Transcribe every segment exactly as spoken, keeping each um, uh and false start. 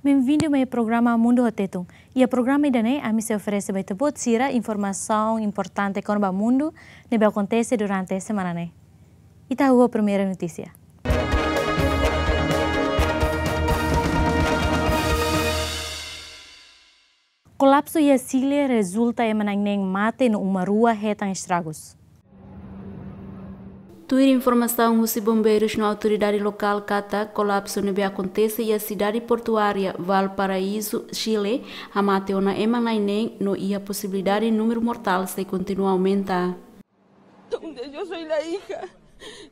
Bem-vindo mai programa Mundu ho Tetun. Iha programa ida-ne'e, ami sei oferese ba ita-boot sira informasaun importante kona-ba mundu ne'ebé akontese durante semana ne'e. Ita hahú ho primeira notísia. Kolapsu iha Chile rezulta ema na'in neen mate no uma rua hetan estragus. Tuir informasaun husi bombeirus no autoridade lokál katak kolapsu ne'ebé akontese iha sidade portuária Valparaíso, Chile, hamate ona ema na'in neen no iha posibilidade númeru mortál sei kontinua aumenta. Donde yo soy la hija.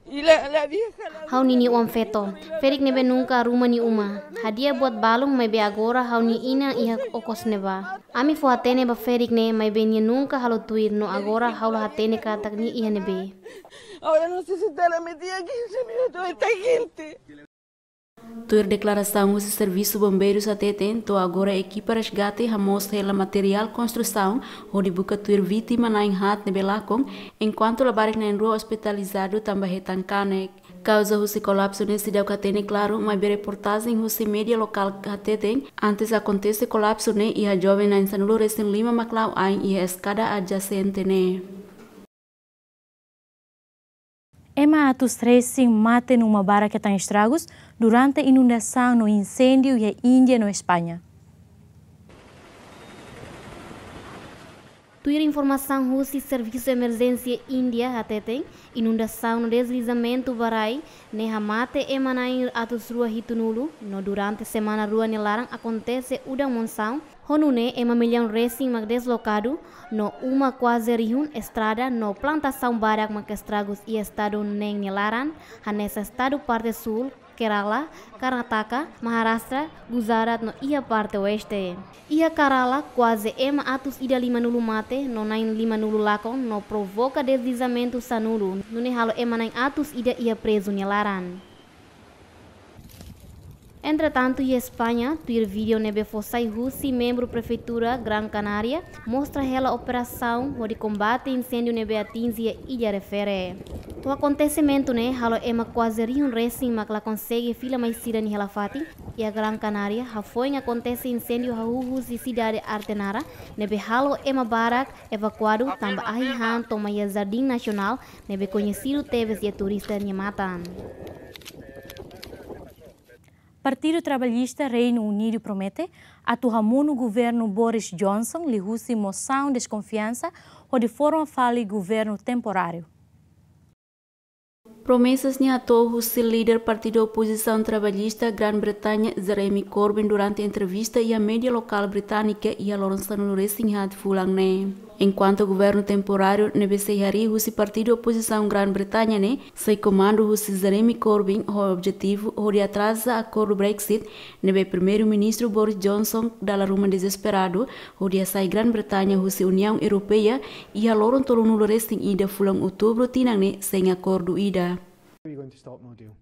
Y la, la vieja, la ha'u-nia oan-feto, ferik ne'ebé nunka arruma nia uma. Hadi'a buat balun maibé agora ha'u-nia inan iha okos ne'ebá. Ami fó-hatene ba ferik ne'e maibé nia nunka halo tuir no agora ha'u la hatene katak nia iha ne'ebé. Ahora no sé si está la metida quince minutos esta gente. Tuir deklarasaun husi servisu bombeirus hateten, to'o agora ekipa resgate hamoos hela materiál konstrusaun hodi buka tuir vítima na'in haat ne'ebé lakon, enkuantu labarik na'in rua ospitalizadu tanba hetan kanek. Kauza husi kolapsu ne'e seidauk hatene klaru, maibé reportajen husi média lokál hateten, antes akontese kolapsu ne'e iha joven na'in sanulu-resin-lima mak la'o ain iha eskada adjasente ne'e. Ema atus resin mate no uma barak hetan estragus durante inundasaun no inséndiu iha Índia no España. Tuir informasaun husi Servisu Emerjénsia Índia hateten, inundasaun no deslizamentu ba rai ne'e hamate ema na'in atus rua hitunulu, no durante semana rua nia laran akontese udan monsaun, ho nune'e ema millaun resin mak deslokadu, no uma kuaze rihun, estrada no plantasaun barak mak estragus iha estadu neen nia laran, hanesan estadu parte súl, Kerala, Karnataka, Maharashtra, Gujarat no iha parte oeste. Iha Kerala, kuaze ema atus ida limanulu mate no na'in limanulu lakon no provoka deslizamentu sanulu, nune'e halo ema na'in atus ida iha prezu nia laran. Entretantu, iha España, tuir vídeo ne'ebé fó sai husi membru prefeitura Gran Canaria, mostra hela operasaun hodi kombate inséndiu ne'ebé atinje illa refere. Ho akontesimentu ne'e halo ema kuaze rihun resin mak la konsege fila mai sira-nia hela fatin iha Gran Canaria, hafoin akontese inséndiu hahú husi sidade Arte Nara, ne'ebé halo ema barak evakuadu tanba ahi han toman iha Jardín Nacional, ne'ebé koñesidu tebes iha turista nia matan. Partidu Trabalhista Reinu Unidu promete atu hamonu governu Boris Johnson liuhusi mosaun deskonfiansa hodi forma fali governu temporáriu. Promesas ne'e hato'o husi líder partidu opozisaun trabalhista Gran Bretaña, Jeremy Corbyn, durante entrevista iha média lokál británika iha loron sanulu-resin-haat fulan ne'e. Enkuantu governu temporáriu ne'ebé sei harii husi partidu opozisaun Gran Bretaña ne'e sei komandu husi Jeremy Corbyn ho objetivu hodi atraza akordu Brexit ne'ebé Primeiru-Ministru Boris Johnson dala ruma dezesperadu hodi hasai Gran Bretaña husi Uniaun Europeia iha loron tolunulu-resin-ida fulan Outubru tinan ne'e sein akordu ida. Are you going to stop no deal?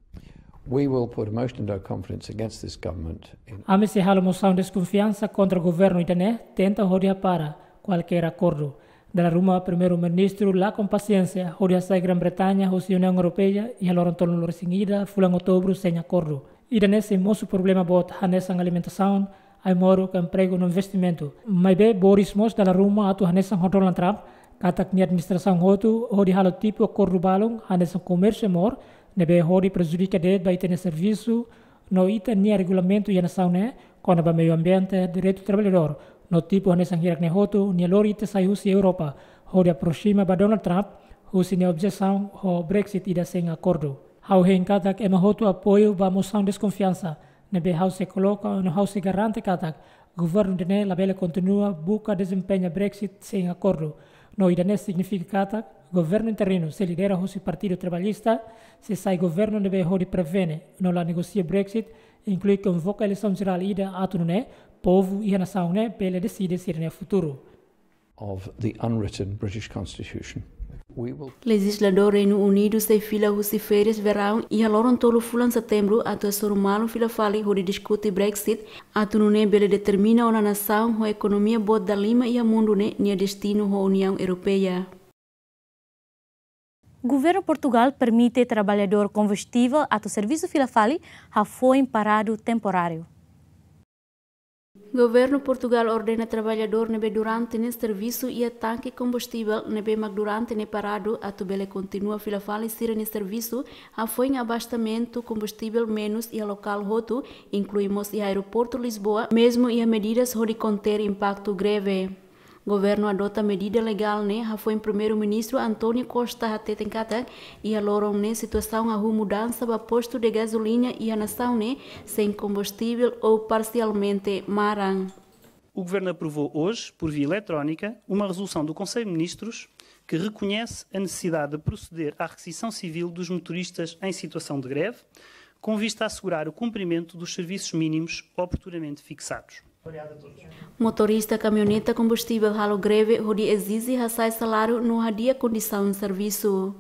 We will put a motion of no confidence against this government in Ami sei halo mosaun deskonfiansa kontra governu ida-ne'e tenta hodi hapara kualkér akordu. Dala ruma Primeiru-Ministru lakon pasiénsia hodi hasai Gran Bretaña husi Uniaun Europeia iha loron tolunulu-resin-ida fulan Outubru sein akordu. Ida-ne'e sei mosu problema boot hanesan alimentasaun, ai-moruk, empregu no investimentu. Maibé Boris mós dala ruma atu hanesan ho Donald Trump, katak nia administrasaun hotu hodi halo tipu akordu balun hanesan komérsiu mour, ne'ebé hodi prejudika de'it ba ita-nia servisu no ita-nia regulamentu iha nasaun ne'e, kona-ba meiu ambiente, direitu trabalhadór, no tipu hanesan hirak-ne'e hotu, nia lori ita sai husi Europa, hodi aproxima ba Donald Trump, husi nia objesaun ho Brexit ida sein akordu. Ha'u hein katak ema hotu apoiu ba mosaun deskonfiansa ne'ebé ha'u sei koloka no ha'u sei garante katak governu ida-ne'e labele kontinua buka dezempeña Brexit sein akordu. No ida-ne'e signifika katak governu interinu sei lidera husi Partidu Trabalhista sei sai governu ne'ebé hodi prevene no la negosia Brexit, inklui konvoka eleisaun jerál ida atu nune'e povu iha nasaun ne'e bele deside sira-nia futuru. Of the unwritten British Constitution. We will Lejizladór Reinu Unidu sei fila husi férias veraun iha loron tolu fulan Setembru atu hasoru malu fila fali hodi diskute Brexit, atu nune'e bele determina ona nasaun ho ekonomia boot dalima iha mundu ne'e nia destinu ho Uniaun Europeia. Governu Portugál permite trabalhadór konvestivel atu servisu fila fali hafoin paradu temporáriu. Governu Portugál ordena traballadór ne'ebé durante ne'e servisu iha tanke kombustivel ne'ebé mak durante ne'e paradu atu bele kontinua fila fali sira-nia servisu, hafoin abastamentu kombustivel menus iha lokál hotu, inklui mós iha aeroportu Lisboa, mezmu iha medidas hodi konter impaktu greve. Governu adota medida legál ne'e hafoin Primeiru-Ministru António Costa hateten katak iha loron ne'e situasaun hahú mudansa ba postu de gazolina iha nasaun ne'e sein kombustivel ou parsialmente maran. O Governo aprovou hoje, por via eletrónica, uma resolução do Conselho de Ministros que reconhece a necessidade de proceder à requisição civil dos motoristas em situação de greve, com vista a assegurar o cumprimento dos serviços mínimos oportunamente fixados. Motorista kamioneta kombustivel halo greve hodi ezije hasa'e saláriu no hadi'a kondisaun servisu.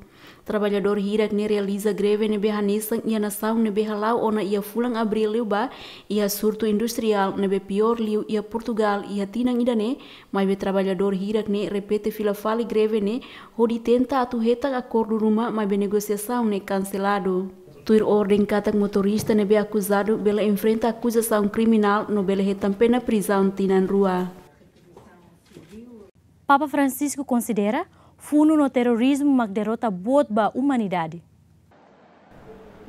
Traballadór hirak ne'e realiza greve ne'ebé hanesan iha nasaun ne'ebé hala'o ona iha fulan Abríl liubá, iha surtu industriál ne'ebé piór liu iha Portugál iha tinan ida-ne'e, maibé traballadór hirak ne'e repete fila fali greve ne'e hodi tenta atu hetan akordu ruma, maibé negosiasaun ne'e kanseladu. Tuir orden katak motorista ne'ebé akuzadu bele enfrenta akuzasaun kriminál no bele hetan pena prizaun tinan rua. Papa Francisco konsidera funu no terrorizmu mak derrota boot ba umanidade.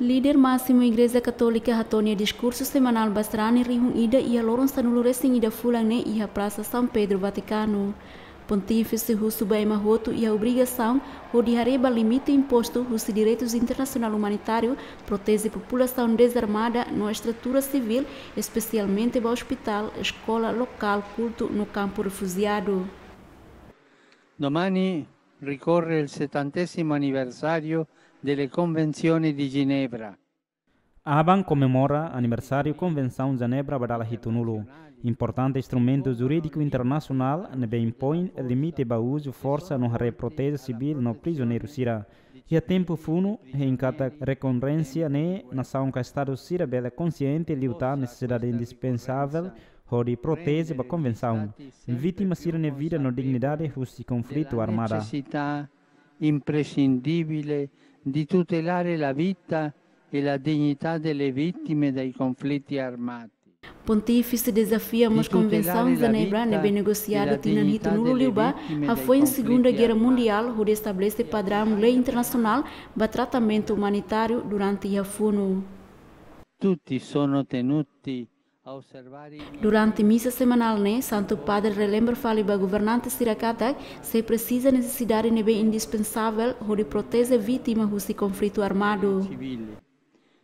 Líder másimu Igreja Katólika hato'o nia diskursu semanál ba sarani rihun ida iha loron sanulu-resin-ida fulan ne'e iha Prasa São Pedro, Vatikanu. Pontífise husu ba ema hotu iha obrigasaun hodi haree ba limite impostu husi direitus internasionál umanitáriu, proteje populasaun dezarmada no estrutura sivíl, espesialmente ba ospitál, eskola, lokál kultu no kampu refujiadu. Domani ricorre il settantesimo anniversario delle Convenzioni di Ginevra. Aban komemora aniversáriu Konvensaun Jenebra ba dala hitunulu, importante instrumentu jurídiku internasionál ne'ebé impoin limite ba uzu forsa no haree proteje sivíl no prizioneiru sira. Iha tempu funu, hein katak rekorrenzia ne'e nasaun ka estadu sira bele konsiente liután nesesidade indispensável hodi proteje ba konvensaun vítima sira-nia vida no dignidade husi konflitu armada. Necessità imprescindibile di tutelare la vita e la dignità delle vittime dei conflitti armati. Pontífise dezafia mós Konvensaun Jenebra ne'ebé negosiadu tinan hitunulu liubá, hafoin Segunda Guerra Mundiál, hodi estabelese padraun lei internasionál ba tratamentu umanitáriu durante iha funu. Tutti sono tenuti Durante misa semanál ne'e, Santu Padre relembra fali ba governante sira katak sei presiza nesesidade ne'ebé indispensável hodi proteje vítima husi konflitu armadu.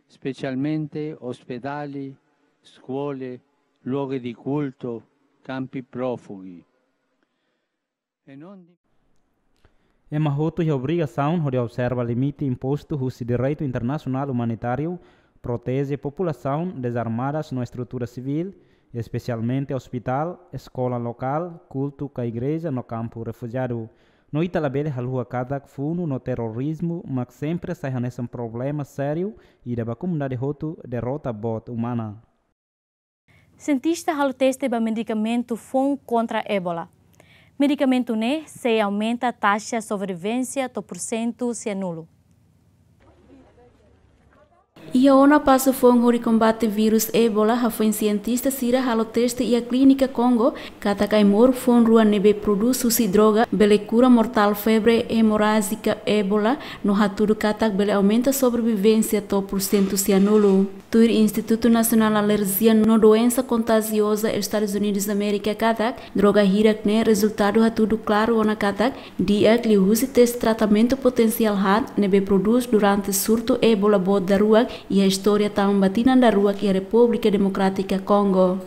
Specialmente ospedali, skole, luoghi di culto, campi profughi. Ema hotu iha obrigasaun hodi observa limite impostu husi direitu internasionál umanitáriu, proteje populasaun dezarmadas no estrutura sivíl, espesialmente ospitál, eskola lokál, kultu ka igreja no kampu refujiadu. No ita labele haluha katak funu no terrorizmu mak sempre sai hanesan problema sériu ida ba komunidade hotu derrota boot umana. Sientista halo teste ba medikamentu foun kontra Ebola. Medikamentu ne'e sei aumenta taxa sobrevivénsia to'o pursentu sianulu. Iha ona pasu foun hodi kombate vírus Ebola, hafoin sientista sira halo teste iha klínika Kongo katak ai-moruk foun rua ne'ebé produz husi droga bele kura mortál febre emorájika Ebola, no hatudu katak bele aumenta sobrevivénsia to'o pursentu sianulu. Tuir Institutu Nasionál Alerjia no Doensa Kontajioza Estadus Unidus Amérika katak, droga hirak ne'e rezultadu hatudu klaru ona katak di'ak liuhusi teste tratamentu potensiál haat ne'ebé produz durante surtu Ebola boot daruak iha istória, tama ba tinan daruak iha Repúblika Demokrátika Kongo.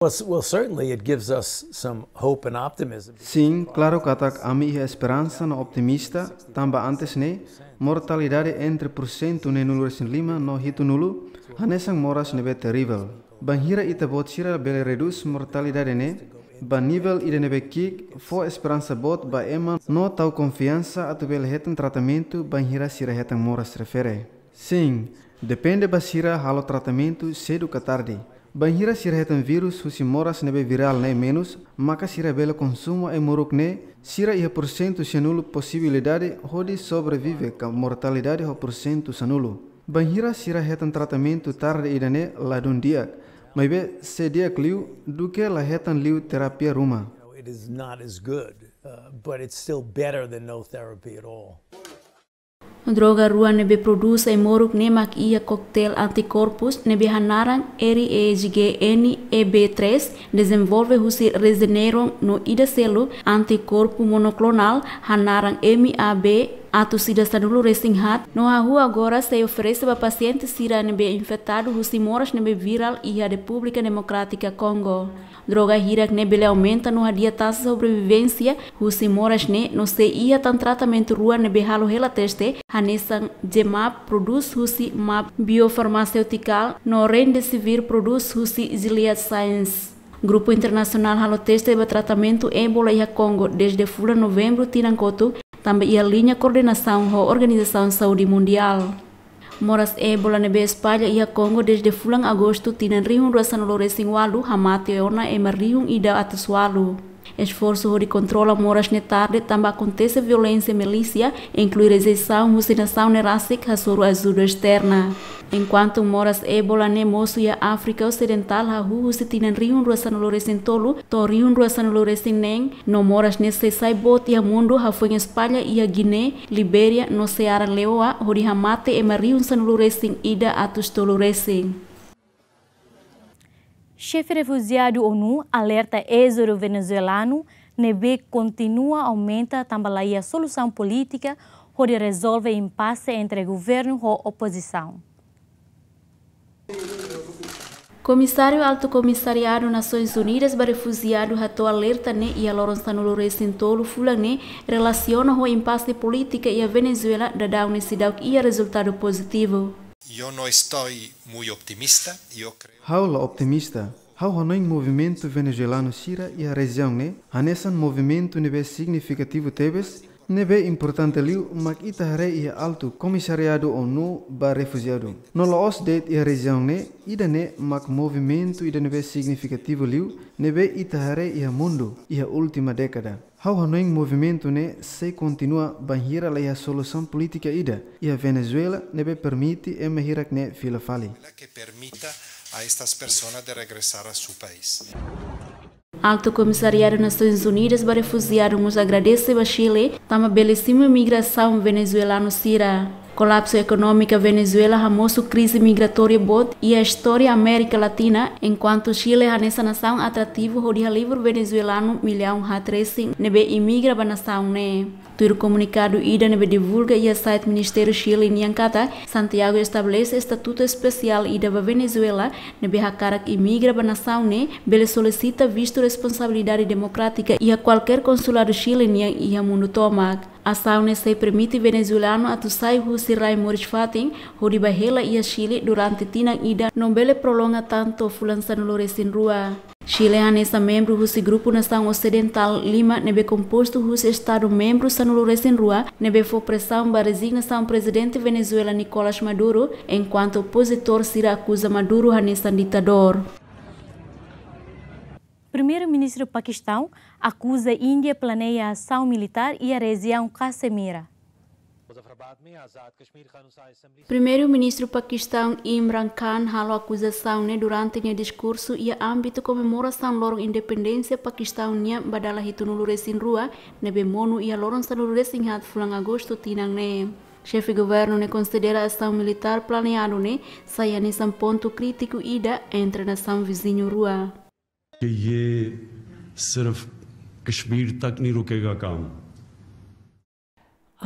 Well, s- well, certainly it gives us some hope and optimism. Sin, klaru katak ami iha esperansa no optimista, tanba antes ne'e, mortalidade entre pursentu neenulu-resin-lima no hitunulu, hanesan moras ne'ebé terivel. Bainhira ita-boot sira bele redús mortalidade ne'e ba nivel ida ne'ebé ki'ik, fó esperansa boot ba ema no tau konfiansa atu bele hetan tratamentu bainhira sira hetan moras refere. Sin, depende ba sira halo tratamentu sedu ka tarde. Bainhira sira hetan vírus husi moras ne'ebé virál ne'e menus, maka sira bele konsumu ai-moruk ne'e, sira iha pursentu sianulu posibilidade hodi sobrevive ka mortalidade ho pursentu sanulu. Bainhira sira hetan tratamentu tarde ida-ne'e ladún di'ak, Maibé sei di'ak liu duké la hetan liu terapia ruma. You know, it is not as good, uh, but it's still better than no therapy at all. Droga rua ne'ebé prodús ai-moruk ne'e mak iha koktel antikorpus ne'ebé hanaran R E G N E B três, dezenvolve husi Regeneron, no ida seluk antikorpu monoklonál hanaran M A B atus ida sanulu resin haat, no hahú agora sei oferese ba pasiente sira ne'ebé infetadu husi moras ne'ebé virál iha Repúblika Demokrátika Kongo. Droga hirak ne'e bele aumenta no hadi'a taxa sobrevivénsia husi moras ne'e, no sei iha tan tratamentu rua ne'ebé halo hela teste, hanesan Genmab prodús husi mab Biofarmacêutica, no Remdesivir prodús husi Gilead Sciences. Grupu internasionál halo teste ba tratamentu Ebola iha Kongo dezde fulan Novembru tinan kotuk, tanba iha liña koordenasaun ho Organizasaun Saúde Mundiál. Moras Ebola ne'ebé espalla iha Kongo dezde fulan Agostu tinan rihun rua sanulu resin ualu hamate ona ema rihun ida atus ualu. Esforsu hodi kontrola moras ne'e tarde tanba akontese violénsia milísia, inklui rejeisaun husi nasaun ne'e rasik hasoru ajuda esterna. Enkuantu moras Ebola ne'e mosu iha Áfrika Osidentál hahú husi tinan rihun rua sanulu resin tolu to'o rihun rua sanulu resin neen, no moras ne'e sei sai boot iha mundu, hafoin espalla iha Guiné, Libéria no Sierra Leoa, hodi hamate ema rihun sanulu resin ida atus tolu resin. Xefe refujiadu ONU alerta ézodu venezuelanu ne'ebé kontinua aumenta tanba la iha solusaun polítika hodi rezolve impase entre governu ho opozisaun. Komisáriu Altu Komisariadu Nasoins Unidas ba Refujiadu hato'o alerta ne'e iha loron sanulu resin tolu fulan ne'e, relasiona ho impase polítika iha Venezuela, daudaun ne'e seidauk iha rezultadu pozitivu. Yo no estoy muy optimista, yo creo. Ha'u la optimista. Ha'u hanoin movimentu venezuelanu sira iha rejiaun ne'e hanesan movimentu ne'ebé signifikativu tebes, ne'ebé importante liu mak ita haree iha Altu Komisariadu ONU ba Refujiadu. No la'ós de'it iha rejiaun ne'e, ida-ne'e mak movimentu ida ne'ebé signifikativu liu ne'ebé ita haree iha mundu iha última dékada. Ha'u hanoin movimentu ne'e sei kontinua bainhira la iha solusaun polítika ida iha Venezuela ne'ebé permite ema hirak ne'e fila fali. Que permita a estas personas de regresar a su país. Altu Komisariadu Nasoins Unidas ba Refujiadu mós agradese ba Chile tanba bele simu imigrasaun venezuelanu sira. Kolapsu ekonómika Venezuela hamosu krize migratória boot iha istória Amérika Latina, enkuantu Chile hanesan nasaun atrativu hodi halibur venezuelanu millaun haat resin ne'ebé imigra ba nasaun ne'e. Tuir komunikadu ida ne'ebé divulga iha site Ministériu Chile nian katak, Santiago estabelese estatutu espesiál ida ba Venezuela, ne'ebé hakarak imigra ba nasaun ne'e bele solisita vistu responsabilidade demokrátika iha kualkér konsuladu Chile nian iha mundu tomak. Asaun ne'e sei permite venezuelanu atu sai husi rai moris fatin hodi bá hela iha Chile durante tinan ida no bele prolonga tan to'o fulan sanulu resin rua. Chile hanesan membru husi grupu nasaun osidentál lima ne'ebé kompostu husi estadu membru sanulu resin rua ne'ebé fó presaun ba rezignasaun Prezidente Venezuela Nicolás Maduro, enkuantu opozitór sira akuza Maduro hanesan ditadór. Primeiru-Ministru Pakistaun akuza Índia planeia asaun militár iha rejiaun Caxemira. Primeiru-Ministru Pakistaun Imran Khan halo akuzasaun ne'e durante nia diskursu iha ámbitu komemorasaun loron independénsia Pakistaun nian ba dala hitunulu resin rua, ne'ebé monu iha loron sanulu resin haat fulan Agostu tinan ne'e. Xefe governu ne'e konsidera asaun militár planeadu ne'e sai hanesan pontu krítiku ida entre nasaun viziñu rua. कि ये सिर्फ कश्मीर तक नहीं रुकेगा काम।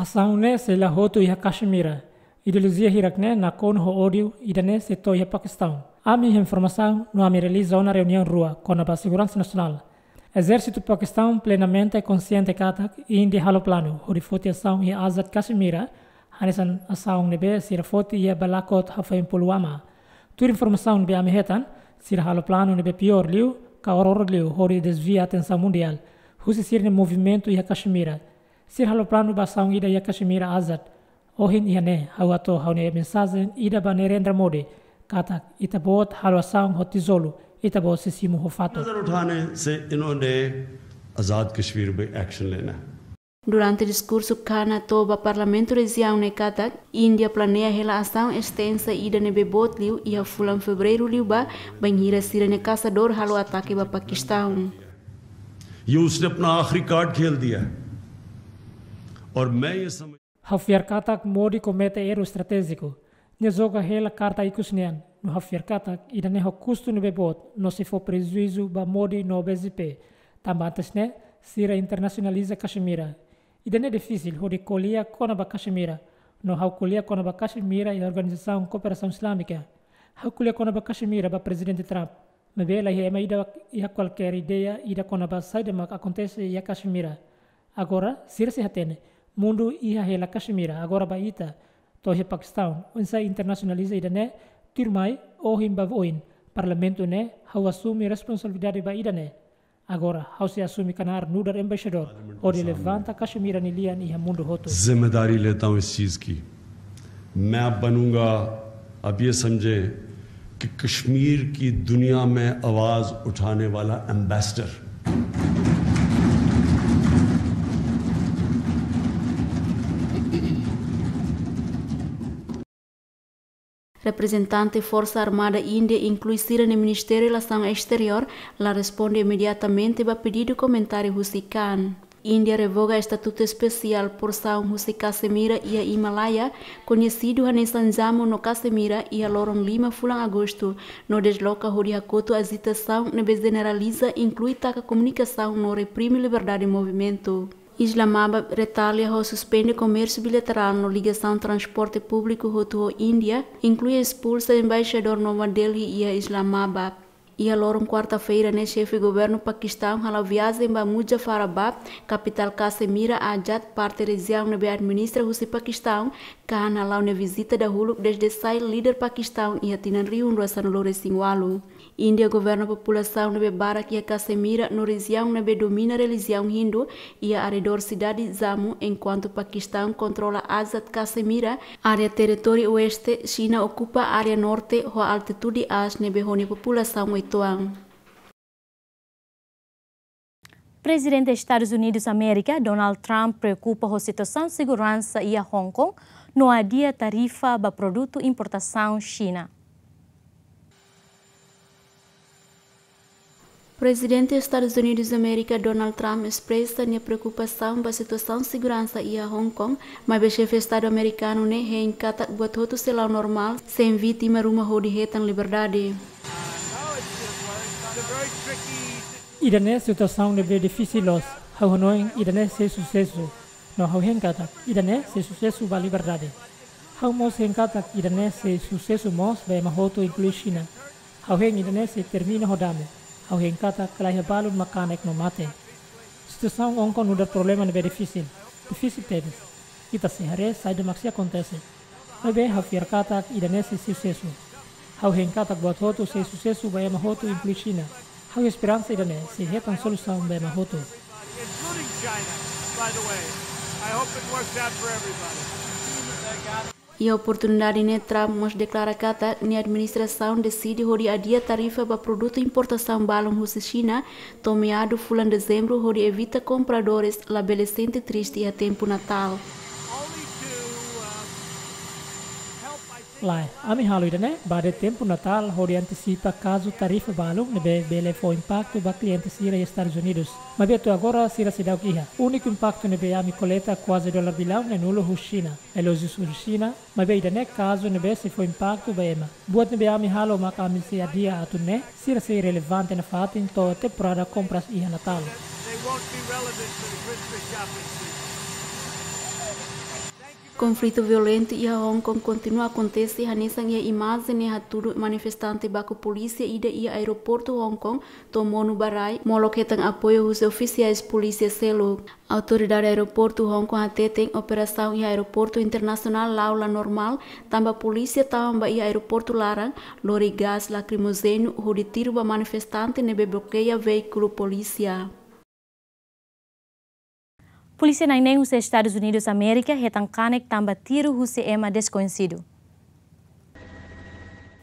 Asaun ne'e sei la hotu iha Caxemira. Ideolojia hirak ne'e nakonu ho ódiu ida-ne'e sei to'o iha Pakistaun. Ami iha informasaun no ami realiza ona reuniaun rua kona-ba seguransa nasionál. Ezérsitu Pakistaun plenamente konxiente katak Índia halo planu hodi foti asaun iha Azad Caxemira, hanesan asaun ne'ebé sira foti iha Balakot hafoin Pulwama. Tuir informasaun ne'ebé ami hetan, sira halo planu ne'ebé piór liu, ka oioin liu, hodi dezvia atensaun mundiál husi sira-nia movimentu iha Caxemira. Sira halo planu ba asaun ida iha Caxemira Azad. Ohin iha ne'e, ha'u hato'o ha'u-nia mensajen ida ba Narendra Modi, katak ita-boot halo asaun ho tijolu, ita-boot sei simu ho fatuk. नजर उठाने से इन्होंने आज़ाद कश्मीर में एक्शन लेना है। Durante diskursu Khan hato'o ba Parlamentu rejiaun ne'e katak, Índia planeia hela asaun estensa ida ne'ebé boot liu iha fulan Fevereiru liubá, bainhira sira-nia kasadór halo atake ba Pakistaun. ये उसने अपना आखिरी कार्ड खेल दिया है। और मैं ये समझ Ha'u fiar katak Modi komete erru estratéjiku. Nia joga hela karta ikus nian, no ha'u fiar katak ida-ne'e ho kustu ne'ebé boot, no sei fó prejuízu ba Modi no B J P. Tanba antes ne'e, sira internasionaliza Caxemira. Ida-ne'e difisil hodi ko'alia kona-ba Caxemira. No ha'u ko'alia kona-ba Caxemira iha Organizasaun Kooperasaun Islámika. Ha'u ko'alia kona-ba Caxemira ba Prezidente Trump. Maibé laiha ema ida iha kualkér ideia ida kona-ba saida mak akontese iha Caxemira. Agora, sira sei hatene, mundu iha hela Caxemira, agora ba ita, to'o iha Pakistaun, oinsá internasionaliza ida-ne'e, tuirmai, ohin ba oin, Parlamentu ne'e, ha'u asume responsabilidade ba ida-ne'e. Agora, ha'u sei asume knaar nu'udar embaixadór, hodi levanta Caxemira nia lian iha mundu hotu. जिम्मेदारी लेता हूं इस चीज की। मैं अब बनूंगा, अब ये समझें कि कश्मीर की दुनिया में आवाज उठाने वाला ambassador. Reprezentante Forsa Armada Índia, inklui sira-nia Ministériu Relasaun Esteriór, la responde imediatamente ba pedidu komentáriu husi Khan. Índia revoga estatutu espesiál porsaun husi Caxemira iha Himalaia, koñesidu hanesan Jammu no Caxemira, iha loron lima fulan Agostu, no desloka hodi hakotu ajitasaun ne'ebé jeneraliza, inklui taka komunikasaun no reprime liberdade movimentu. Islamabad retalia ho suspende komérsiu bilaterál no ligasaun transporte públiku hotu ho Índia, inklui espulsa embaixadór Nova Delhi iha Islamabad. Iha loron kuarta-feira ne'e, xefe governu Pakistaun hala'o viajen ba Muzaffarabad, kapitál Caxemira Azad, parte rejiaun ne'ebé administra husi Pakistaun, Khan hala'o nia vizita dahuluk dezde sai líder Pakistaun iha tinan rihun rua sanulu resin ualu. Índia governa populasaun ne'ebé barak iha Caxemira no rejiaun ne'ebé domina relijiaun Hindu iha arredór sidade Jammu, enkuantu Pakistaun kontrola Azad Caxemira, área territóriu oeste, Xina okupa área norte ho altitude aas ne'ebé ho nia populasaun uitoan. Prezidente Estadus Unidus Amérika, Donald Trump, preokupa ho situasaun seguransa iha Hong Kong, no adia tarifa ba produtu importasaun Xina. Prezidente Estadus Unidus Amérika, Donald Trump, espresa nia preokupasaun ba situasaun seguransa iha Hong Kong, maibé xefe Estadu amerikanu ne'e hein katak buat hotu sei la'o normál, sein vítima ruma hodi hetan liberdade. Ida-ne'e situasaun ne'ebé difisil loos. Ha'u hanoin ida-ne'e sei susesu. No ha'u hein katak ida-ne'e sei susesu ba liberdade. Ha'u mós hein katak ida-ne'e sei susesu mós ba ema hotu, inklui Xina. Ha'u hein ida-ne'e sei termina ho dame. Ha'u hein katak laiha balun mak kanek no mate. Situasaun Hong Kong nu'udar problema ne'ebé difisil. Difisil tebes. Ita sei haree saida mak sei akontese. Maibé ha'u fiar katak ida-ne'e sei susesu. Ha'u hein katak buat hotu sei susesu ba ema hotu, inklui Xina. Ha'u esperansa ida-ne'e sei hetan solusaun ba ema hotu. Iha oportunidade ne'e, Trump mós deklara katak nia administrasaun deside hodi adia tarifa ba produtu importasaun balun husi Xina to'o meadu fulan Dezembru, hodi evita kompradores labele sente triste iha tempu Natál. Lae, ami halo ida-ne'e ba de'it tempu Natál, hodi antisipa kazu tarifa balun ne'ebé bele fó impaktu ba kliente sira iha Estadus Unidus. Maibé to'o agora sira seidauk iha. Úniku impaktu ne'ebé ami koleta kuaze dolar bilaun neen-nulu husi Xina. Relójiu husi Xina, maibé ida-ne'e kazu ne'ebé sei fó impaktu ba ema. Buat ne'ebé ami halo mak ami sei adia atu nune'e, sira sei relevante nafatin to'o temporada kompras iha Natál. Konflitu violentu iha Hong Kong kontinua akontese, hanesan iha imajen ne'e hatudu manifestante baku polísia ida iha aeroportu Hong Kong to'o monu ba rai, molok hetan apoiu husi ofisiais polísia seluk. Autoridade aeroportu Hong Kong hateten operasaun iha aeroportu internasionál la'o la normál, tanba polísia tama ba iha aeroportu laran, lori gás lakrimojéniu hodi tiru ba manifestante ne'ebé blokeia veíkulu polísia. Polísia na'in neen husi Estadus Unidus Amérika hetan kanek tanba tiru husi ema deskoñesidu.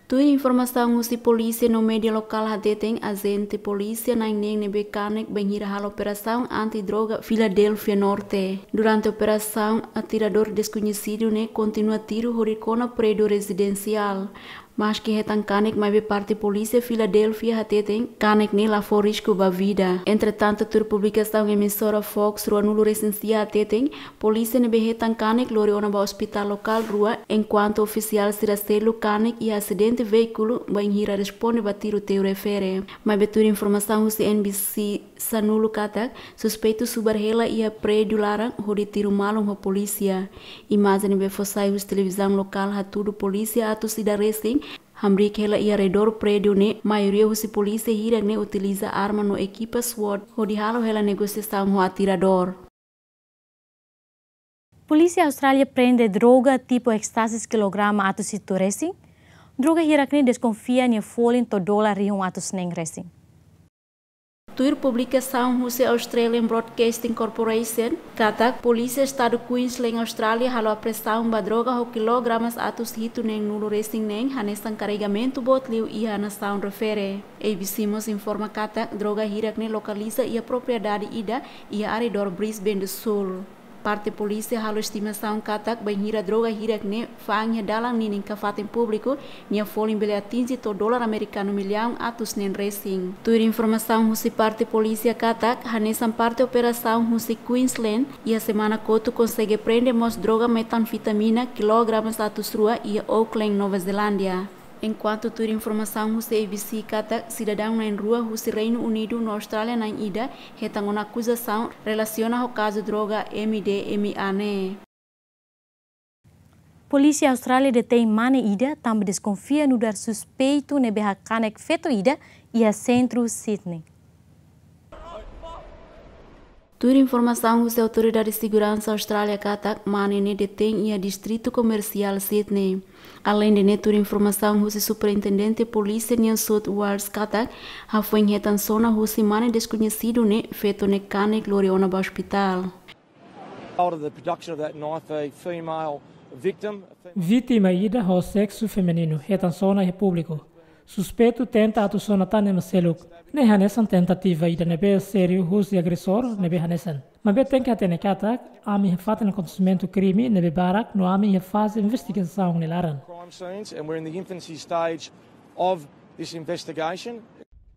Tuir informasaun husi polísia no média lokál hateten, ajente polísia na'in neen ne'ebé kanek bainhira halo operasaun anti-droga Filadélfia Norte. Durante operasaun, atiradór deskoñesidu ne'e kontinua tiru hodi kona prédiu rezidensiál. Maski hetan kanek, maibé parte polísia Filadélfia hateten kanek ne'e la fó risku ba vida. Entretantu, tuir publikasaun emissora Fox ruanulu resin sia hateten, polísia ne'ebé hetan kanek lori ona ba ospitál lokál rua, enkuantu ofisiál sira seluk kanek iha asidente veíkulu bainhira responde ba tiroteiu refere. Maibé tuir informasaun husi N B C sanulu katak, suspeitu subar hela iha prédiu laran hodi tiru malu ho polísia. Imajen ne'ebé fó sai husi televizaun lokál hatudu polísia atus ida resin hamriik hela iha redór prédiu ne'e, maioria husi polísia hirak ne'e utiliza arma no ekipa SWAT hodi halo hela negosiasaun ho atiradór. Polísia Austrália prende droga tipu ekstasis kilograma atus hitu resin. Droga hirak ne'e deskonfia nia folin to'o dolar rihun atus neen resin. Tuir publikasaun husi Australian Broadcasting Corporation katak, polísia estadu Queensland, Austrália, halo apreensaun ba droga ho kilogramas atus hitu neen nulu resin neen, hanesan karregamentu boot liu iha nasaun refere. A B C mós informa katak, droga hirak ne'e lokaliza iha propriedade ida iha arredór Brisbane do Sul. Parte polísia halo estimasaun katak, bainhira droga hirak ne'e fa'an iha dalan ninin ka fatin públiku, nia folin bele atinje to'o dolar amerikanu millaun atus neen resin. Tuir informasaun husi parte polísia katak, hanesan parte operasaun husi Queensland, iha semana kotuk konsege prende mós droga metanfetamina kilogramas atus rua iha Auckland, Nova Zelándia. Enkuantu tuir informasaun husi A B C katak, sidadaun na'in rua husi Reinu Unidu no Austrália na'in ida hetan ona akuzasaun relasiona ho kazu droga M D M A ne'e. Polísia Austrália detein mane ida tanba deskonfia nu'udar suspeitu ne'ebé hakanek feto ida iha sentru Sydney. Tuir informasaun husi Autoridade Seguransa Austrália katak, mane ne'e detein iha Distritu Komersiál Sydney. Aleinde ne'e, tuir informasaun husi Superintendente Polísia New South Wales katak, hafoin hetan sona husi mane deskoñesidu ne'e, feto ne'e kanek lori ona ba ospitál. Out of the production of that knife, a female victim, a female Vítima ida ho seksu femininu hetan sona iha públiku. Suspeitu tenta atu sona tan ema seluk. Ne'e hanesan tentativa ida ne'ebé sériu husi agresór ne'ebé hanesan. Maibé tenke hatene katak, ami iha fatin akontesimentu krime ne'ebé barak no ami iha faze investigasaun nia laran. Crime scenes, and we're in the infancy stage of this investigation.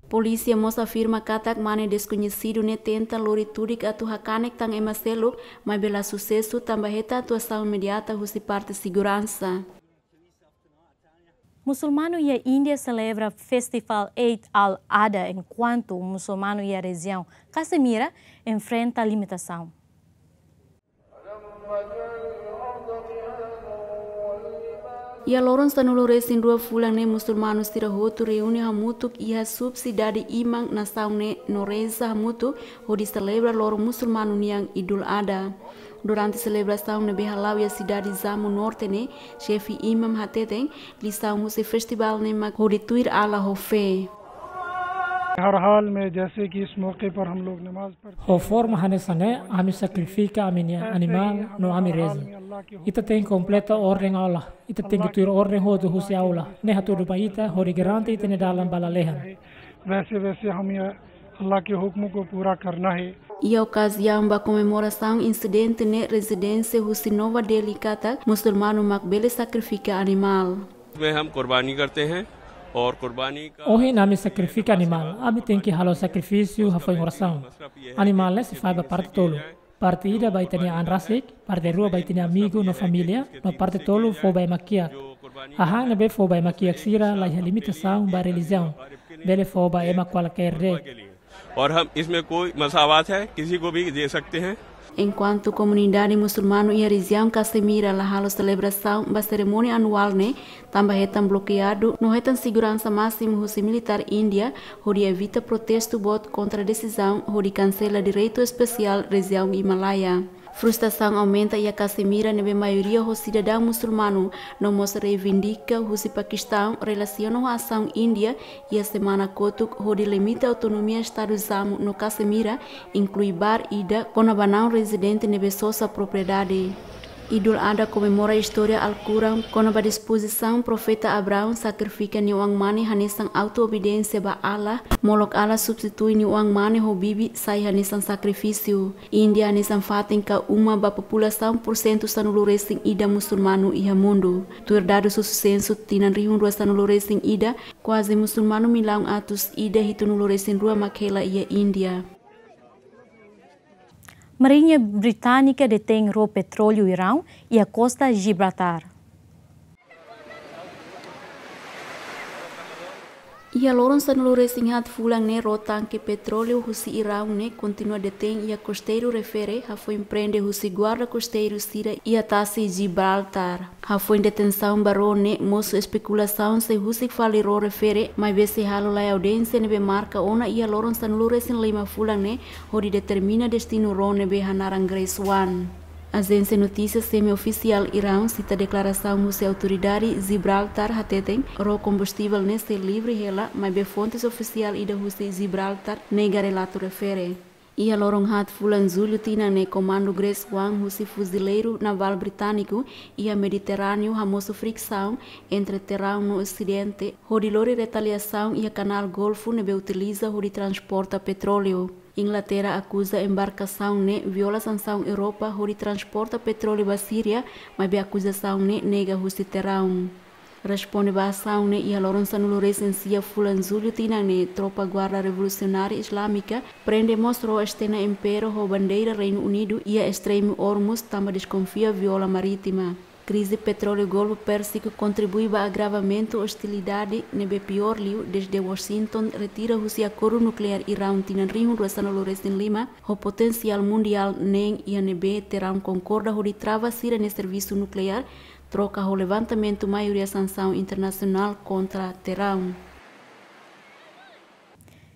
Polísia mós afirma katak, mane deskoñesidu ne'e tenta lori tudik atu hakanek tan ema seluk, maibé la susesu tanba hetan atuasaun imediata husi parte seguransa. Musulmanu iha Índia selebra festival Eid al-Adha, enkuantu musulmanu iha rejiaun Cassemira enfrenta limitasaun. Iha loron sanulu resin rua fulan ne'e, musulmanu sira hotu reúne hamutuk iha subsidade iman nasaun ne'e no reza hamutuk hodi selebra loron musulmanu nian Idul Adha. Durante selebrasaun ne'ebé hala'o iha sidade Jammu Norte ne'e, xefe imam hateten, lisaun husi festivál ne'e mak hodi tuir Allah ho fé. हर हाल में जैसे कि इस मौके पर हम लोग नमाज पढ़ते Ho forma hanesan ne'e, ami sakrifika ami-nia animál no ami reza. Ita tenke kompleta orden Allah. Ita tenke tuir orden hotu husi Allah. Ne'e hatudu ba ita hodi garante ita-nia dalan ba lalehan. वैसे वैसे हम ये अल्लाह के हुक्म को पूरा करना है। Iha okaziaun ba komemorasaun insidente ne'e, rezidente husi Nova Delhi katak, musulmanu mak bele sakrifika animál. में हम कुर्बानी करते हैं और कुर्बानी का Ohin ami sakrifika animál, ami tenke halo sakrifísiu hafoin orasaun. Animál ne'e sei fahe ba parte tolu. Parte ida ba ita-nia an rasik, parte rua ba ita-nia amigu no família, no parte tolu fó ba ema kiak. Hahán ne'ebé fó ba ema kiak sira la iha limitasaun ba relijiaun, bele fó ba ema kualkér de'it. और हम इसमें कोई मसावत है, किसी को भी दे सकते हैं। Enkuantu komunidade musulmanu iha rejiaun Cassemira la halo selebrasaun ba serimónia anuál ne'e, tanba hetan blokeadu no hetan seguransa másimu husi militár Índia, hodi evita protestu boot kontra desizaun hodi kansela direitu espesiál rejiaun Himalaia. Frustrasaun aumenta iha Cassemira ne'ebé maioria ho sidadaun musulmanu, no mós reivindika husi Pakistaun relasiona ho asaun Índia iha semana kotuk hodi limita autonomia Estadu Jammu no Cassemira, inklui bar ida kona-ba naun rezidente ne'ebé sosa propriedade. Idul Adha komemora istória Alkuran kona-ba dispozisaun profeta Abraão sakrifika nia oan-mane hanesan auto-obediénsia ba Allah, molok Allah substitui nia oan-mane ho bibi sai hanesan sakrifísiu. Índia hanesan fatin ka uma ba populasaun pursentu sanulu-resin-ida musulmanu iha mundu. Tuir dadus husi sensu tinan rihun rua sanulu-resin-ida, kuaze musulmanu millaun atus ida hitunulu-resin-rua mak hela iha Índia. Marinha Británika detein ró petróleu Iraun iha kosta Gibraltar. Iha loron sanulu-resin-haat fulan ne'e, ró tanke petróleu husi Iraun ne'e kontinua detein iha kosteiru refere, hafoin prende husi guarda kosteiru sira iha tasi Gibraltar. Hafoin detensaun ba ró ne'e, mosu espekulasaun sei husik fali ró refere, maibé sei halo lai audiénsia ne'ebé marka ona iha loron sanulu-resin-lima fulan ne'e, hodi determina destinu ró ne'ebé hanaran Grace One. Ajénsia notísia semi-ofisiál Iraun sita deklarasaun husi autoridade Gibraltar hateten, ró kombustivel ne'e sei livre hela, maibé fontes ofisiál ida husi Gibraltar nega relatu refere. Iha loron haat fulan Jullu tinan ne'e, komandu Grace One husi fuzileiru navál britániku iha Mediterráneu hamosu friksaun entre Terraun no Osidente, hodi lori retaliasaun iha Kanál Golfu ne'ebé utiliza hodi transporta petróleu. Inglaterra akuza embarkasaun ne'e viola sansaun Europa hodi transporta petróleu ba Síria, maibé akuzasaun ne'e nega husi Terraun. Responde ba asaun ne'e, iha loron sanulu-resin-sia fulan Jullu tinan ne'e, tropa Guarda Revolusionária Islámika prende mós ró Stena Impero ho bandeira Reinu Unidu iha estremu Hormuz tanba deskonfia viola marítima. Krize petróleu Golfu Pérsiku kontribui ba agravamentu ostilidade ne'ebé piór liu desde Washington retira husi akordu nukleár Iraun tinan rihun rua sanulu-resin-lima, ho potensiál mundiál neen iha ne'ebé Terraun konkorda hodi trava sira-nia servisu nukleár, troka ho levantamentu maioria sansaun internasionál kontra Terraun.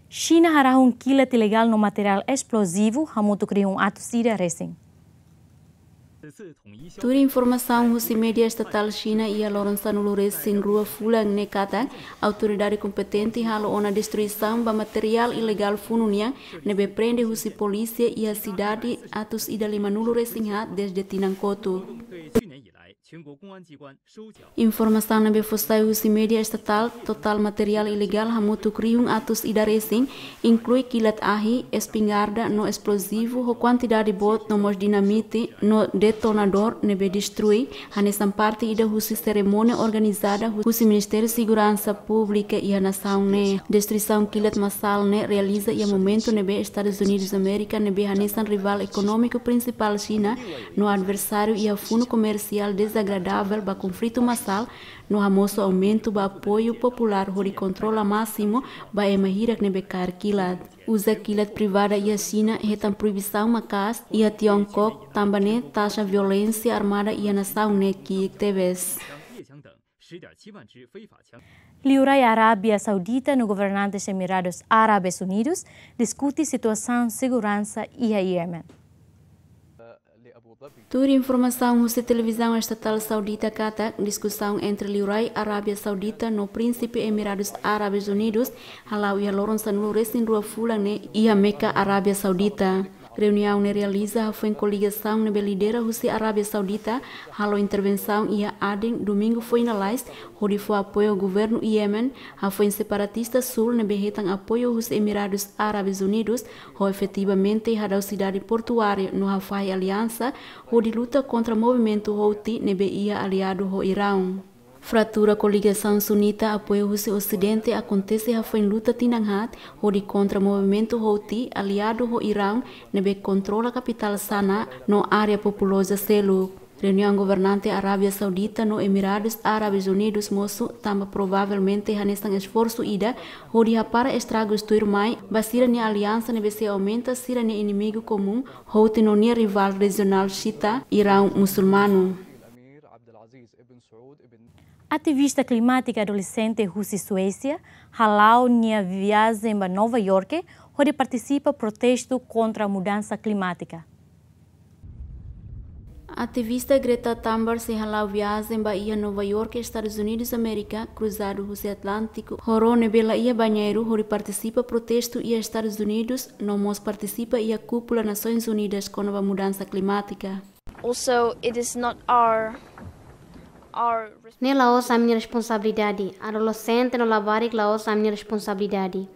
Xina harahun kilat ilegál no materiál esplozivu hamutuk rihun atus ida resin. Tuir informasaun husi média estatál Xina iha loron sanulu-resin-rua fulan ne'e katak, autoridade kompetente halo ona destruisaun ba materiál ilegál funu nian ne'ebé prende husi polísia iha sidade atus ida limanulu-resin-haat desde tinan kotuk. Informasaun ne'ebé fó sai husi média estatál, totál materiál ilegál hamutuk rihun atus ida resin, inklui kilat ahi, espingarda no esplozivu ho kuantidade boot no mós dinamite no detonadór ne'ebé destrui, hanesan parte ida husi serimónia organizada husi Ministériu Seguransa Públika iha nasaun ne'e. Destruisaun kilat masál ne'e realiza iha momentu ne'ebé Estadus Unidus Amérika ne'ebé hanesan rivál ekonómiku prinsipál Xina no adversáriu iha funu komersiál dezagradável ba konflitu masál, no hamosu aumentu ba apoiu populár hodi kontrola másimu ba ema hirak ne'ebé kaer kilat. Uza kilat privada iha Xina hetan proibisaun maka'as iha Tiongkok, tanba ne'e taxa violénsia armada iha nasaun ne'e ki'ik tebes. Liurai Arábia Saudita no governantes Emiradus Árabes Unidus diskute situasaun seguransa iha Yemen. Tuir informasaun husi televizaun estatál saudita katak, diskusaun entre liurai Arábia Saudita no Prínsipe Emiradus Árabes Unidus hala'o iha loron sanulu-resin-rua fulan ne'e iha Meka, Arábia Saudita. Reuniaun ne'e realiza hafoin koligasaun ne'ebé lidera husi Arábia Saudita halo intervensaun iha Aden, Domingu foin lalais, hodi fó apoiu governu Yemen, hafoin separatista sul ne'ebé hetan apoiu husi Emiradus Árabes Unidus, ho efetivamente hadau sidade portuária no hafahe aliansa hodi luta kontra movimentu Houthi ne'ebé iha aliadu ho Iraun. Fratura koligasaun sunita apoiu husi Osidente akontese hafoin luta tinan haat hodi kontra movimentu Houthi aliadu ho Iraun ne'ebé kontrola kapitál Sanaa no área populoza seluk. Reuniaun governante Arábia Saudita no Emiradus Árabes Unidus mosu tanba provavelmente hanesan esforsu ida hodi hapara estragus tuirmai ba sira-nia aliansa ne'ebé sei aumenta sira-nia inimigu komún, Houthi no nia rivál rejionál xiita, Iraun musulmanu. Ativista klimátika adolexente husi Suésia hala'o nia viajen ba Nova Iorke hodi partisipa protestu kontra mudansa klimátika. Ativista Greta Thunberg sei hala'o viajen ba iha Nova Iorke, Estadus Unidus Amérika, kruzadu husi Atlántiku ho ró ne'ebé la iha bañeiru, hodi partisipa protestu iha Estadus Unidus, no mós partisipa iha kúpula Nasoins Unidas kona-ba mudansa klimátika. Also, it is not our, our Ne'e la'ós ami-nia responsabilidade. Adolexente no labarik la'ós ami-nia responsabilidade.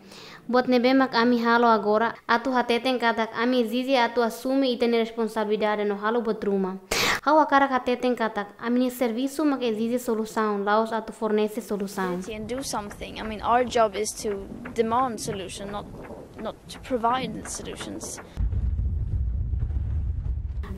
Buat ne'ebé mak ami halo agora, atu hateten katak ami ezije atu asume ita-nia responsabilidade no halo buat ruma. Ha'u hakarak hateten katak ami-nia servisu mak ezije solusaun, la'ós atu fornese solusaun. And do something. I mean, our job is to demand solution, not, not to provide solutions.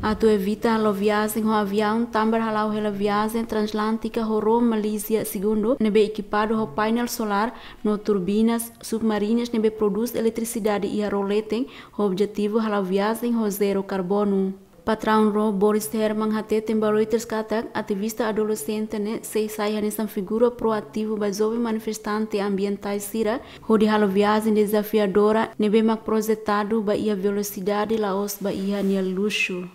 Atu evita halo viajen ho aviaun, tanba hala'o hela viajen transatlántika ho Roma, Malázia segundu, ne'ebé ekipadu ho painel solár no turbinas submarinas ne'ebé prodús eletrisidade iha ró leten, ho objetivu hala'o viajen ho zero karbonu. Patraun ró Boris Herman hateten ba Reuters katak ativista adolexente ne'e sei sai hanesan figura proativu ba joven manifestante ambientais sira, hodi halo viajen dezafiadora ne'ebé mak projetadu ba iha velosidade la'ós ba iha nia luxu.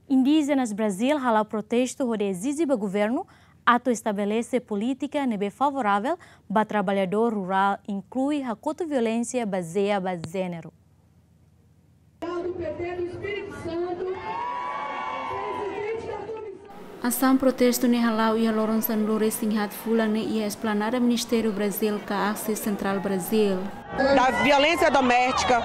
Indíjenas Brazil hala'o protestu hodi ezije ba governu atu estabelese polítika ne'ebé favoravel ba traballadór rurál, inklui hakotu violénsia bazeia ba jéneru. Asaun protestu ne'e hala'o iha loron sanulu-resin-haat fulan ne'e iha esplanada Ministériu Brazil ka Axis Central Brazil. Da violência doméstica,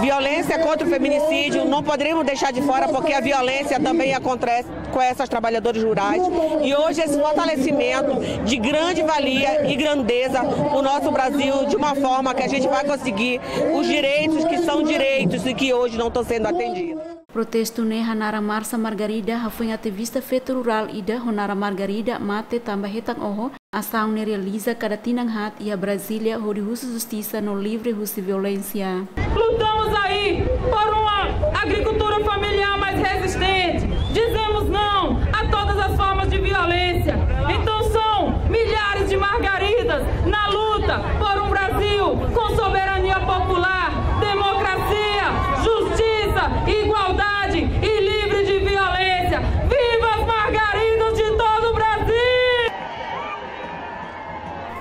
violência contra o feminicídio, não poderíamos deixar de fora, porque a violência também acontece com essas trabalhadoras rurais. E hoje esse fortalecimento de grande valia e grandeza para o nosso Brasil, de uma forma que a gente vai conseguir os direitos que são direitos e que hoje não estão sendo atendidos. Protestu ne'e ho naran Marsa Margarida hafoin ativista feto rurál ida ho naran Margarida mate tanba hetan oho. Asaun ne'e realiza kada tinan haat iha Brasília hodi husu justisa no livre husi violénsia. Lutamos aí por uma agricultura familiar mais resistente. Dizemos não a todas as formas de violência. Então são milhares de Margaridas na luta por um Brasil com soberania popular, democracia, justiça, igualdade e livre de violência. Viva as Margaridas de todo o Brasil!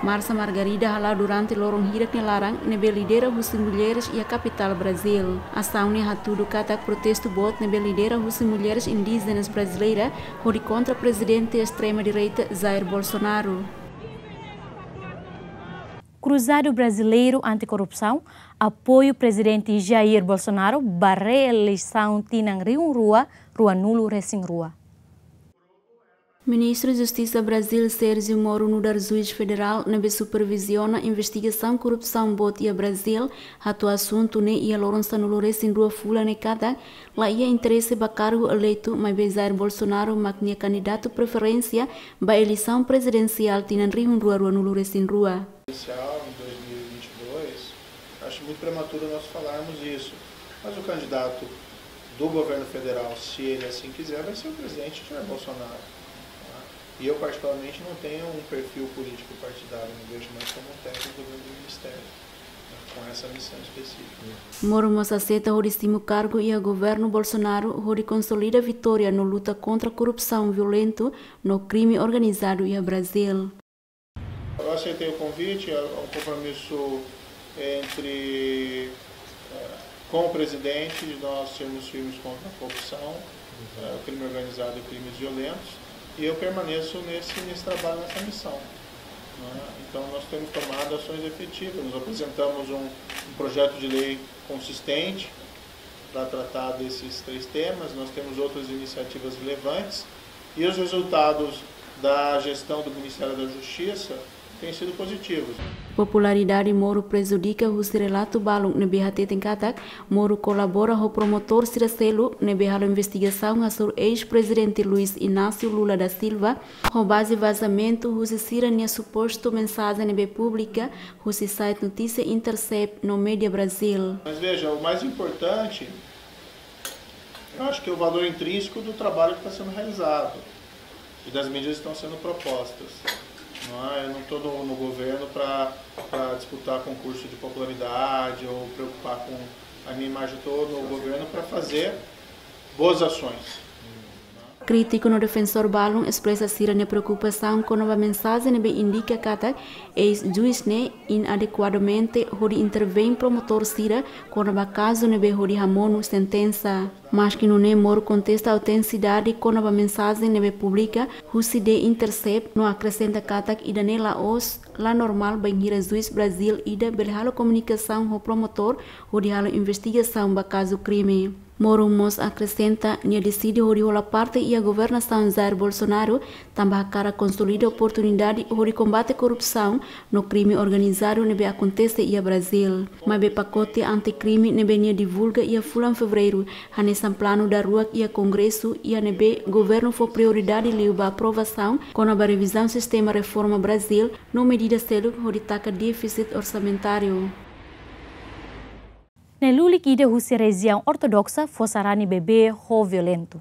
Marsa Margarida hala'o durante loron hirak nia laran ne'ebé lidera husi mulheres iha kapitál Brazil. Asaun ne'e hatudu katak protestu boot ne'ebé lidera husi mulheres indíjenas brasileira hodi kontra prezidente estrema-direita Jair Bolsonaro. Cruzado Brasileiro Anticorrupção apoia prezidente Jair Bolsonaro ba reeleisaun tinan rihun rua ruanulu-resin-rua. Ministru Justisa Brazil Sérgio Moro nu'udar juís federál ne'ebé superviziona investigasaun korrupsaun boot iha Brazil, hato'o asuntu ne'e iha loron sanulu-resin-rua fulan ne'e katak laiha interese ba kargu eleitu, maibé Jair Bolsonaro mak nia kandidatu preferénsia ba eleisaun prezidensiál tinan rihun rua ruanulu-resin-rua. Presidencial em dois mil e vinte e dois, acho muito prematuro nós falarmos isso. Mas o candidato do governo federal, se ele assim quiser, vai ser o presidente Jair Bolsonaro, tá? E eu, particularmente, não tenho um perfil político partidário, não vejo mais como um técnico do governo do ministério, né, com essa missão específica. Moro mós aseita hodi simu kargu iha governu Bolsonaro hodi konsolida vitória no luta kontra korrupsaun violentu no krime organizadu iha Brazil. Eu aceitei o convite, é um compromisso entre, eh, com o presidente, de nós sermos firmes contra a corrupção, eh, o crime organizado e crimes violentos, e eu permaneço nesse, nesse trabalho, nessa missão, né? Então, nós temos tomado ações efetivas, nós apresentamos um, um projeto de lei consistente para tratar desses três temas, nós temos outras iniciativas relevantes, e os resultados da gestão do Ministério da Justiça têm sido positivos. Popularidade Moro prejudika husi relatu balun ne'ebé hateten katak Moro kolabora ho promotór sira seluk ne'ebé halo investigasaun hasoru eis-prezidente Luiz Inácio Lula da Silva, ho baze vazamentu husi sira-nia supostu mensajen ne'ebé publika husi site notísia Intercept no Média Brasil. Mas veja, o mais importante, eu acho que é o valor intrínseco do trabalho que está sendo realizado e das medidas que estão sendo propostas. Não é? Eu não estou no, no governo para disputar concurso de popularidade ou preocupar com a minha imagem. Eu estou no governo para fazer boas ações. Krítiku no defensór balun espresa sira-nia preokupasaun kona-ba mensajen ne'ebé indika katak eis-juís ne'e inadekuadamente hodi intervein promotór sira kona-ba kazu ne'ebé hodi hamonu sentensa. Maski nune'e, Moro kontesta autentisidade kona-ba mensajen ne'ebé publika husi The Intercept no akresenta katak ida-ne'e la'ós la normál bainhira juís Brazíl ida bele halo komunikasaun ho promotór hodi halo investigasaun ba kazu krime. Moro mós akresenta nia deside hodi hola parte iha governasaun Jair Bolsonaro, tanba hakarak konsolida oportunidade hodi kombate korrupsaun no krime organizadu ne'ebé akontese iha Brazíl. Maibé pakote anti-krime ne'ebé nia divulga iha fulan Fevereiru hanesan planu daruak iha Kongresu, iha ne'ebé governu fó prioridade liu ba aprovasaun kona-ba revizaun sistema reforma Brazíl no medida seluk hodi taka défisit orsamentáriu. Nai-lulik ida husi relijiaun ortodoksa fó sarani bebé ho violentu.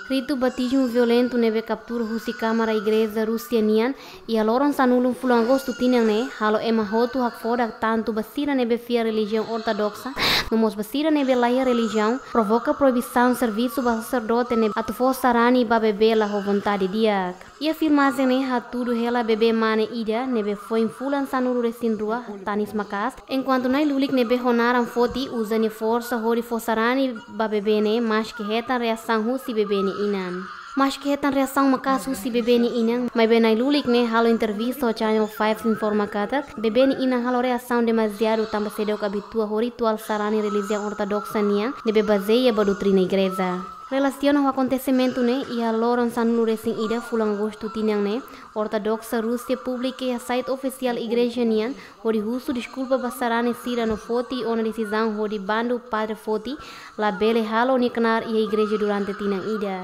Ritu batizmu violentu ne'ebé kaptura husi kámara igreja Rúsia nian iha loron sanulu fulan Agostu tinan ne'e halo ema hotu hakfodak, tantu ba sira ne'ebé fiar relijiaun ortodoksa no mós ba sira ne'ebé laiha relijiaun, provoka proibisaun servisu ba saserdote ne'ebé atu fó sarani ba bebé la ho vontade di'ak. Iha filmajen ne'e hatudu hela bebé mane ida ne'ebé foin fulan sanulu-resin-rua, tanis maka'as, enkuantu nai-lulik ne'ebé ho naran foti uza nia forsa hodi fó sarani ba bebé ne'e, maski hetan reasaun husi bebé nia inan. Maski hetan reasaun maka'as husi bebé nia inan, maibé nai-lulik ne'e halo entrevista ho Channel five informa katak bebé nia inan halo reasaun demasiadu tanba seidauk abitua ho rituál sarani relijiaun ortodoksa nian ne'ebé bazeia ba doutrina igreja. Relasiona ho akontesimentu ne'e, iha loron sanulu-resin-ida fulan Agostu tinan ne'e, ortodoksa Rúsia publika iha site ofisiál igreja nian hodi husu deskulpa ba sarani sira no foti ona desizaun hodi bandu padre foti labele halo nia knaar iha igreja durante tinan ida.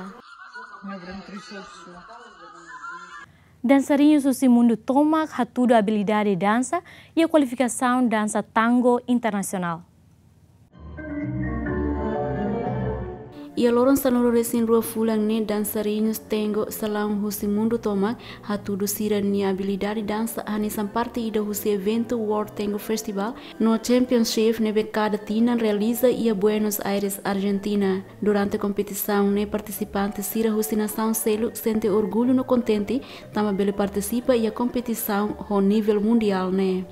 Dansariñus husi mundu tomak hatudu abilidade dansa iha kualifikasaun dansa tango internasionál. Iha loron sanulu-resin-rua fulan ne'e, dansariñus tango salaun husi mundu tomak hatudu sira-nia abilidade dansa hanesan parte ida husi eventu World Tango Festival no Championship ne'ebé kada tinan realiza iha Buenos Aires, Argentina. Durante kompetisaun ne'e, partisipante sira husi nasaun seluk sente orgullu no kontente tanba bele partisipa iha kompetisaun ho nivel mundiál ne'e.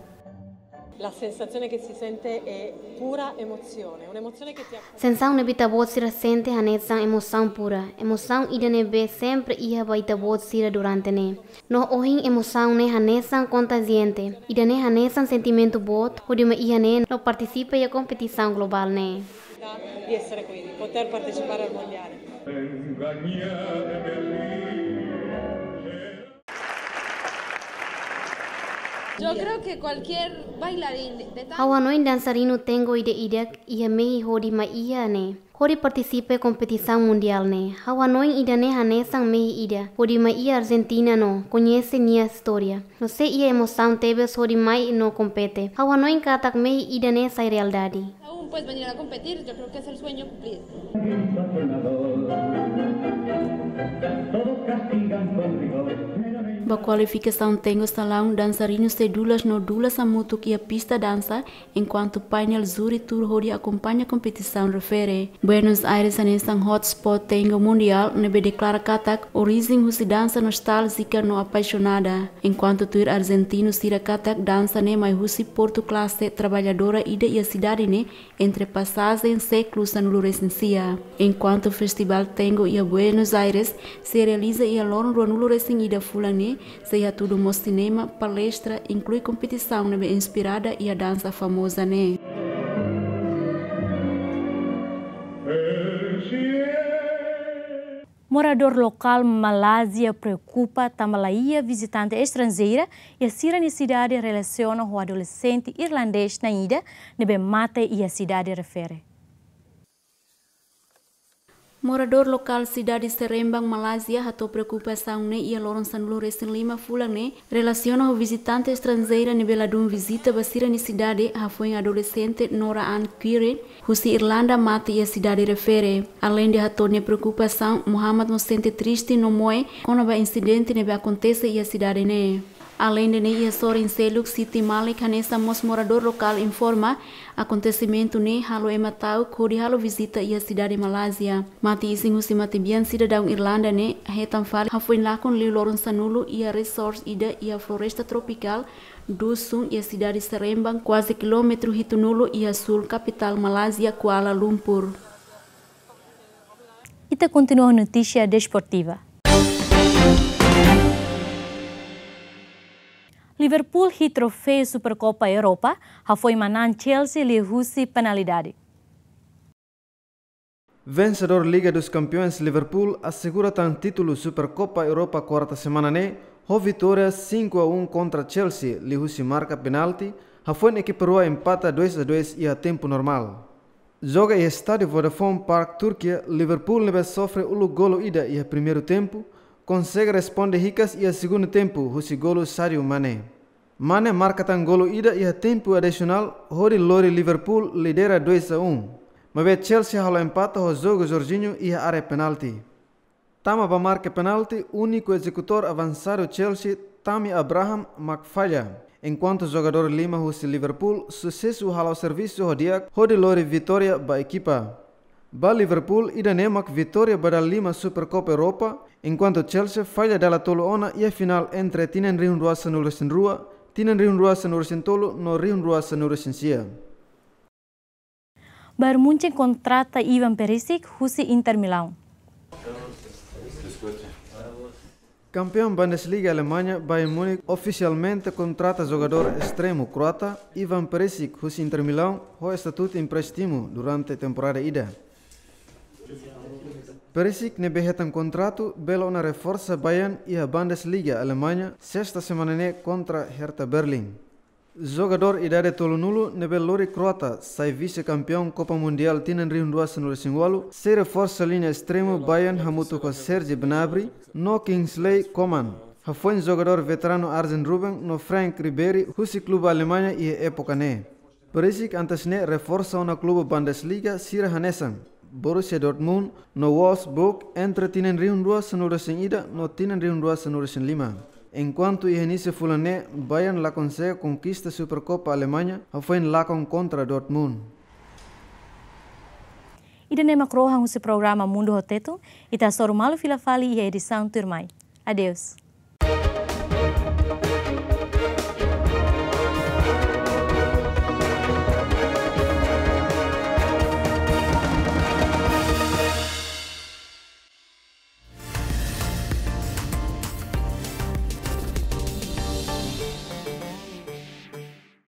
La sensazione che si sente è pura emozione, un'emozione che ti accompagna. Sensaun ne'ebé ita-boot sira sente hanesan emosaun pura, emosaun ida ne'ebé sempre iha ba ita-boot sira durante ne'e. No ohin emosaun ne'e hanesan kontajiante, ida-ne'e hanesan sentimentu boot hodi mai iha ne'e no partisipa iha kompetisaun globál ne'e. Di essere qui, di poter partecipare al mondiale. Yo creo que cualquier bailarín de, de tango. Ha'u hanoin dansarinu tango ida-idak iha mehi hodi mai iha ne'e, hodi partisipa kompetisaun mundiál ne'e. Ha'u hanoin ida-ne'e hanesan mehi ida hodi mai iha Argentina no koñese nia istória. No sei iha emosaun tebes hodi mai no kompete. Ha'u hanoin katak mehi ida-ne'e sai realidade. Aún puedes venir a competir, yo creo que es el sueño cumplido. Ba kualifikasaun tango salaun, dansarinu sei dulas no dulas hamutuk iha pista dansa, enkuantu painel júri tuur hodi akompaña kompetisaun refere. Buenos Aires hanesan hotspot tango mundiál ne'ebé deklara katak orijen husi dansa nostáljiku no apaixonadu. Enkuantu tuir arjentinu sira katak dansa ne'e mai husi portu klase traballadora ida iha sidade ne'e entre pasajen sékulu sanulu-resin-sia. Enkuantu festivál tango iha Buenos Aires sei realiza iha loron ruanulu-resin-ida fulan ne'e, sei hatudu mós sinema, palestra, inklui kompetisaun ne'ebé inspirada iha dansa famoza ne'e. Moradór lokál Malázia preokupa tanba laiha vizitante estranjeira iha sira-nia sidade relasiona ho adolexente irlandés na'in ida ne'ebé mate iha sidade refere. Moradór lokál sidade Seremban, Malázia, hato'o preokupasaun ne'e iha loron sanulu-resin-lima fulan ne'e, relasiona ho vizitante estranjeira ne'ebé ladún vizita ba sira-nia sidade, hafoin adolexente Nora Ann Quirrell, husi Irlanda, mate iha sidade refere. Aleinde hato'o nia preokupasaun, Mohammad mós sente triste no moe kona-ba insidente ne'ebé akontese iha sidade ne'e. Aleinde ne'e, iha sorin seluk City Malek hanesan mós moradór lokál informa, akontesimentu ne'e halo ema ta'uk hodi halo vizita iha sidade Malázia. Mate-isin husi matebian sidadaun Irlanda ne'e hetan fali hafoin lakon liu loron sanulu iha resort ida iha floresta tropikál dusun iha sidade Seremban, kuaze kilómetru hitunulu iha súl kapitál Malázia, Kuala Lumpur. Ita kontinua notísia desportiva. Liverpool hi'it troféu Supercopa Europa, hafoin manán Chelsea liuhusi penalidade. Vensedór Liga dos Campeões Liverpool asegura tan títulu Supercopa Europa kuarta semana ne'e, ho vitória cinco a um kontra Chelsea, liuhusi marka penalti, hafoin ekipa rua empata dois a dois iha tempu normál. Joga iha estádiu Vodafone Park, Turkia, Liverpool ne'ebé sofre uluk golu ida iha primeiru tempu, konsege responde hikas iha segundu tempu husi golu Sadio Mane. Mane marka tan golu ida iha tempu adisionál hodi lori Liverpool lidera dois a um. Maibé Chelsea halo empata ho jogu Jorginho iha área penalti. Tama ba marka penalti, úniku ezekutór avansadu Chelsea, Tammy Abraham, mak falla, enkuantu jogadór lima husi Liverpool susesu hala'o servisu ho di'ak hodi lori vitória ba ekipa. Ba Liverpool, ida-ne'e mak vitória ba dala lima Supercopa Europa, enkuantu Chelsea falla dala tolu ona iha finál entre tinan rihun rua sanulu-resin-rua, tinan rihun rua sanulu-resin-tolu no rihun rua sanulu-resin-sia. Bayern Munchen kontrata Ivan Perisic husi Inter Milan. Kampeaun Bundesliga Alemanha, Bayern Munich ofisialmente kontrata jogadór estremu kroata Ivan Perisic husi Inter Milan ho estatutu empréstimu durante temporada ida. Perisic ne'ebé hetan kontratu bele ona reforsa Bayern iha Bundesliga Alemanha, sesta semana ne'e kontra Hertha Berlin. Jogadór idade tolunulu ne'ebé lori Kroata sai vise-kampeaun Kopa Mundiál tinan rihun rua sanulu-resin-ualu, sei reforsa liña estremu Bayern hamutuk ho Serge Gnabry no Kingsley Coman, hafoin jogadór veteranu Arjen Robben no Franck Ribéry husi klube Alemanha iha époka ne'e. Perisic antes ne'e reforsa ona klube Bundesliga sira hanesan Borussia Dortmund no Wolfsburg entre tinan rihun rua sanulu-resin-ida no tinan rihun rua sanulu-resin-lima. Enkuantu iha inísiu fulan ne'e, Bayern la konsege konkista Supercopa Alemanha, hafoin lakon kontra Dortmund. Ida-ne'e mak rohan husi programa Mundu ho Tetun, ita hasoru malu fila fali iha edisaun tuirmai. Adeus.